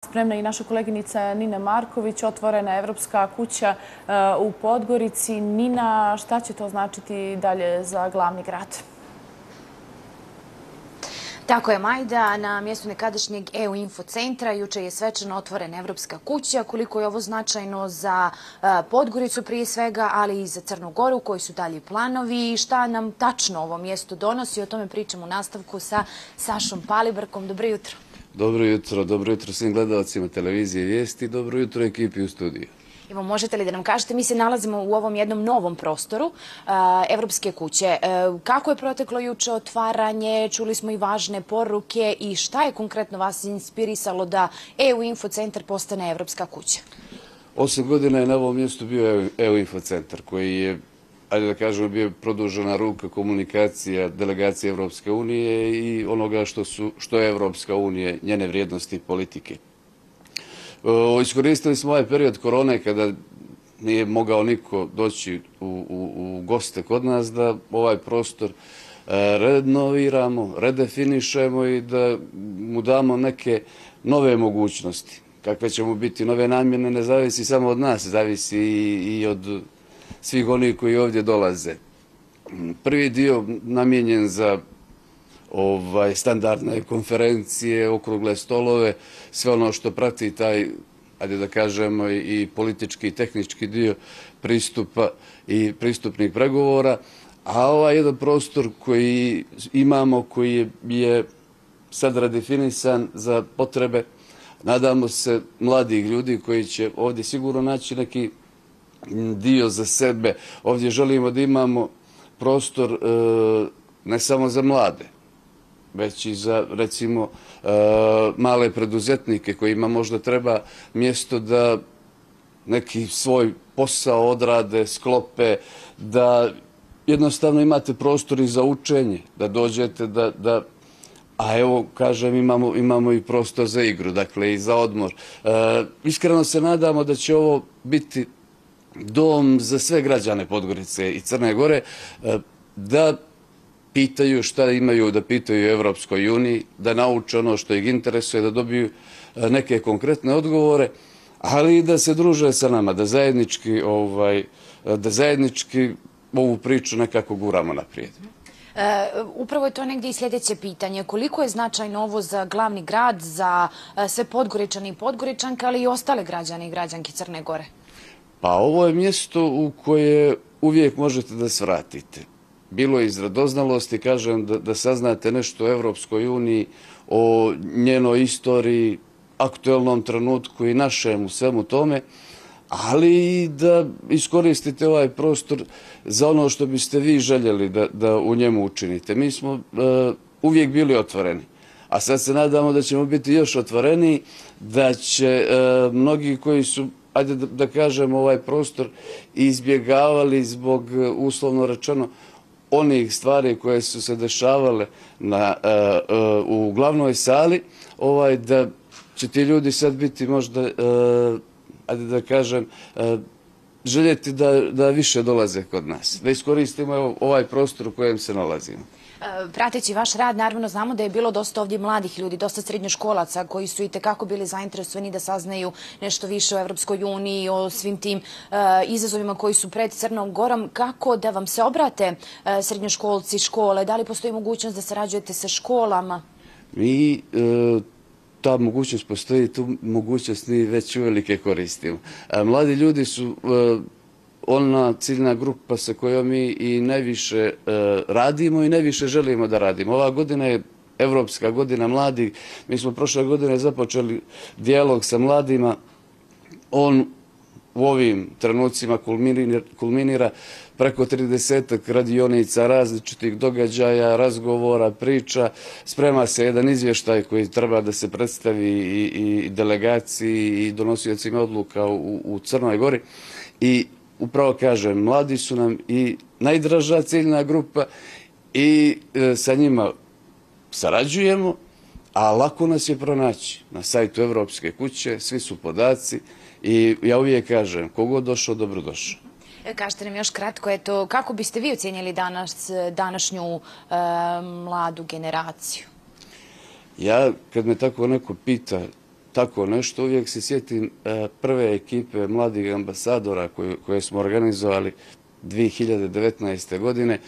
spremna i naša koleginica Nina Marković, otvorena Evropska kuća u Podgorici. Nina, šta će to značiti dalje za glavni grad? Tako je, Majda. Na mjestu nekadašnjeg EU infocentra juče je svečano otvorena Evropska kuća. Koliko je ovo značajno za Podgoricu prije svega, ali i za Crnu Goru, koji su dalji planovi i šta nam tačno ovo mjesto donosi. O tome pričamo u nastavku sa Sašom Palibrkom. Dobro jutro. Dobro jutro svim gledalcima televizije Vijesti, dobro jutro ekipi u studiju. Evo, možete li da nam kažete, mi se nalazimo u ovom jednom novom prostoru Evropske kuće. Kako je proteklo juče otvaranje, čuli smo i važne poruke i šta je konkretno vas inspirisalo da EU infocentar postane Evropska kuća? 8 godina je na ovom mjestu bio EU infocentar koji je, ajde da kažemo, bio produžena ruka komunikacija delegacije Evropske unije i onoga što je Evropska unija, njene vrijednosti i politike. Iskoristili smo ovaj period korone kada nije mogao niko doći u goste kod nas da ovaj prostor renoviramo, redefinišemo i da mu damo neke nove mogućnosti. Kakve će mu biti nove namjene ne zavisi samo od nas, zavisi i od svih onih koji ovdje dolaze. Prvi dio namijenjen za standardne konferencije, okrugle stolove, sve ono što prati taj, ajde da kažemo, i politički i tehnički dio pristupa i pristupnih pregovora, a ovaj jedan prostor koji imamo, koji je sad redefinisan za potrebe, nadamo se, mladih ljudi koji će ovdje sigurno naći neki dio za sebe. Ovdje želimo da imamo prostor ne samo za mlade, već i za, recimo, male preduzetnike kojima možda treba mjesto da neki svoj posao odrade, sklope, da jednostavno imate prostor i za učenje, da dođete, a evo, kažem, imamo i prostor za igru, dakle i za odmor. Iskreno se nadamo da će ovo biti dom za sve građane Podgorice i Crne Gore, da pitaju šta imaju da pitaju u Evropskoj uniji, da nauče ono što ih interesuje, da dobiju neke konkretne odgovore, ali i da se druže sa nama, da zajednički ovu priču nekako guramo naprijed. Upravo je to negdje i sljedeće pitanje. Koliko je značajno ovo za glavni grad, za sve Podgoričane i Podgoričanke, ali i ostale građane i građanke Crne Gore? Pa ovo je mjesto u koje uvijek možete da svratite. Bilo je iz radoznalosti, kažem, da saznate nešto o Evropskoj uniji, o njenoj istoriji, aktuelnom trenutku i našem u svemu tome, ali i da iskoristite ovaj prostor za ono što biste vi željeli da u njemu učinite. Mi smo uvijek bili otvoreni, a sad se nadamo da ćemo biti još otvoreniji, da će mnogi koji su, ajde da kažemo, ovaj prostor izbjegavali zbog, uslovno rečeno, onih stvari koje su se dešavale u glavnoj sali, da će ti ljudi sad biti možda, ajde da kažem, željeti da više dolaze kod nas, da iskoristimo ovaj prostor u kojem se nalazimo. Prateći vaš rad, naravno znamo da je bilo dosta ovdje mladih ljudi, dosta srednjoškolaca koji su i tekako bili zainteresovani da saznaju nešto više o Evropskoj uniji, o svim tim izazovima koji su pred Crnom Gorom. Kako da vam se obrate srednjoškolci, škole? Da li postoji mogućnost da sarađujete sa školama? Ta mogućnost postoji, tu mogućnost mi već uvelike koristimo. Mladi ljudi su ona ciljna grupa sa kojom mi i najviše radimo i najviše želimo da radimo. Ova godina je Evropska godina mladih. Mi smo prošle godine započeli dijalog sa mladima. On u ovim trenucima kulminira preko 30 radionica, različitih događaja, razgovora, priča. Sprema se jedan izvještaj koji treba da se predstavi i delegaciji i donosiocima odluka u Crnoj Gori. I upravo kažem, mladi su nam i najdraža ciljna grupa i sa njima sarađujemo, a lako nas je pronaći na sajtu Evropske kuće, svi su podaci i ja uvijek kažem, kogod došao, dobrodošao. Kažete nam još kratko, kako biste vi ocijenili današnju mladu generaciju? Ja, kad me tako neko pita, tako nešto, uvijek se sjetim prve ekipe mladih ambasadora koje smo organizovali 2019. godine,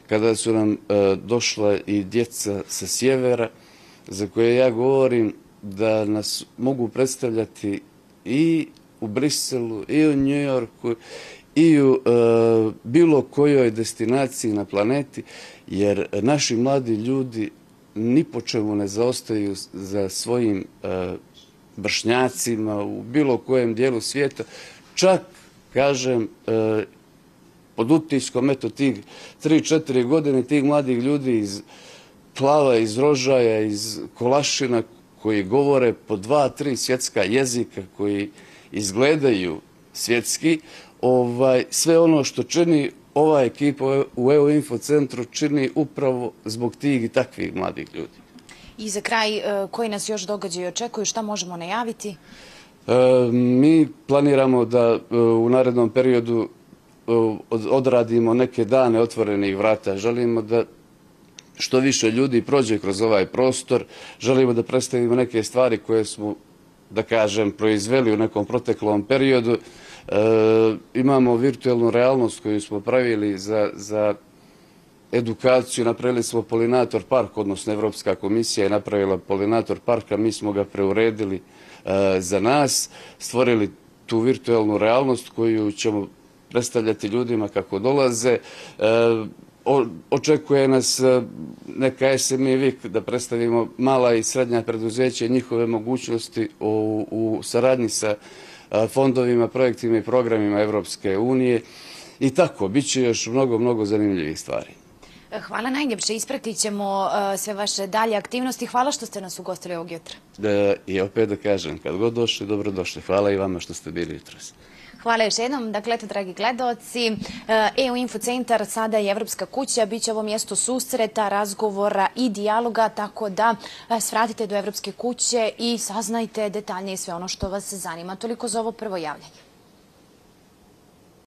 kada su nam došla i djeca sa sjevera, za koje ja govorim da nas mogu predstavljati i u Briselu, i u Njujorku, i u bilo kojoj destinaciji na planeti, jer naši mladi ljudi ni po čemu ne zaostaju za svojim vršnjacima u bilo kojem dijelu svijeta. Čak, kažem, pod utiskom tih 3-4 godine tih mladih ljudi iz Plava, iz Rožaja, iz Kolašina, koji govore po 2-3 svjetska jezika, koji izgledaju svjetski, sve ono što čini ova ekipa u EU Info centru čini upravo zbog tih i takvih mladih ljudi. I za kraj, koji nas još događaju očekuju, šta možemo najaviti? Mi planiramo da u narednom periodu odradimo neke dane otvorenih vrata. Želimo da što više ljudi prođe kroz ovaj prostor. Želimo da predstavimo neke stvari koje smo, da kažem, proizveli u nekom proteklom periodu. Imamo virtualnu realnost koju smo pravili za edukaciju. Napravili smo Polinator park, odnosno Evropska komisija je napravila Polinator park, a mi smo ga preuredili za nas, stvorili tu virtualnu realnost koju ćemo predstavljati ljudima kako dolaze. Očekuje nas neka SME Week da predstavimo mala i srednja preduzeća i njihove mogućnosti u saradnji sa fondovima, projektima i programima Evropske unije. I tako, bit će još mnogo zanimljivih stvari. Hvala najljepše, ispratit ćemo sve vaše dalje aktivnosti. Hvala što ste nas ugostili ovog jutra. I opet da kažem, kad god došli, dobrodošli. Hvala i vama što ste bili jutros. Hvala još jednom. Dakle, eto, dragi gledaoci, EU Info centar, sada i Evropska kuća, bit će ovo mjesto susreta, razgovora i dijaloga, tako da svratite do Evropske kuće i saznajte detaljnije sve ono što vas zanima. Toliko za ovo prvo javljanje.